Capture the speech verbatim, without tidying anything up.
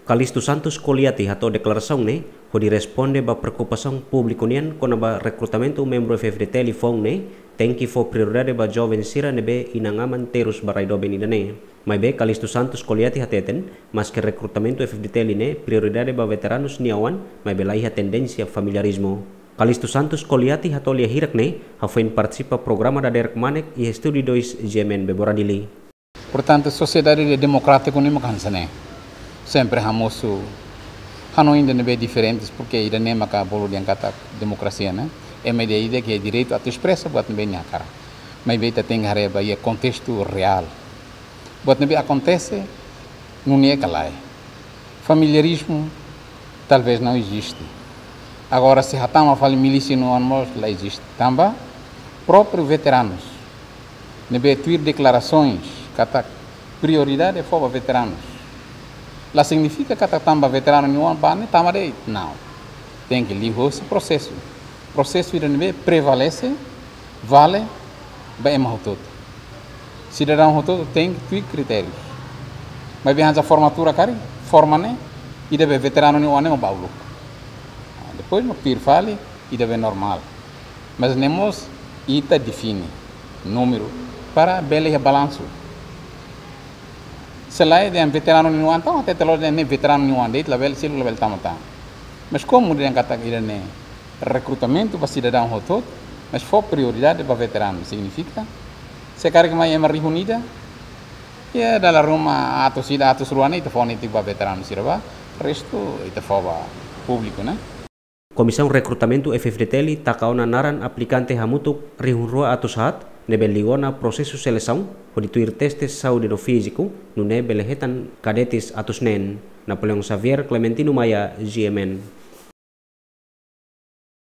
Calixto Santos Coliati hato'o deklarasaun ne'e hodi responde ba preokupasaun públiku nian kona-ba rekrutamentu membru F-FDTL foun ne'e, tenke fó prioridade ba joven sira ne'ebé inan-aman terus ba rai doben ida-ne'e. Maibé Calixto Santos Coliati hateten, maske rekrutamentu F-FDTL ne'e prioridade ba veteranus nia oan, maibé laiha tendénsia familiarizmu. Calixto Santos Coliati hato'o lia hirak ne'e hafoin partisipa programa Dadeer Kmanek iha Estúdiu dois GMN Bebora Dili. Portantu, sosiedade de-, demokrátiku ne'e mak hanesan ne'e. Sempre hamosu hanoin ida ne'ebé diferentes, porke ida-ne'e maka bolu dehan katak demokrasia, ne'e? Ema ida-idak iha direitu atu espresa buat ne'ebé nia hakarak. Maibé ita tenke haree ba iha kontestu reál. Buat ne'ebé akontese, nune'e ka lae. Familiarizmu talvés não existe. Agora, se hatama fali milísia nia oan mós la existe. Tanba própriu veteranus ne'ebé tuir deklarasoens katak prioridade fó ba veteranus, la signifika katak tanba veteranu nia oan ba ne'e tama de'it. Não. Tenke liuhosi prosesu. Prosesu ida ne'ebé prevalese, vale ba ema hotu-hotu. Sidadaun hotu-hotu tenke tuir kritérius. Maibé hanesan formatura karik, forma ne'e, ida be veteranu nia oan ne'e mak ba uluk. Ah, depois mak tuir fali, ida be normál. Mas ne'e mós ita define númeru para bele iha balansu. Se lae dehan veteranu nia oan, entaun hatete loos dehan ne'e veteranu nia oan de'it, labele, sira labele tama tan. Mas komu dehan katak ida-ne'e rekrutamentu ba sidadaun hotu-hotu, mas fó prioridade ba veteranu, signifika se karik mai ema rihun ida, iha dala ruma atus ida, atus rua ne'e ita fó netik ba veteranu sira ba, restu ita fó ba públiku, ne'e? Komisaun Rekrutamentu F-FDTL taka ona naran aplikante hamutuk rihun rua atus haat, ne'ebé liu ona prosesu selesaun, hodi tuir teste saúde no fíziku, nune'e bele hetan kadetes atus neen. Napoleão Xavier, Clementino Maia, GMN.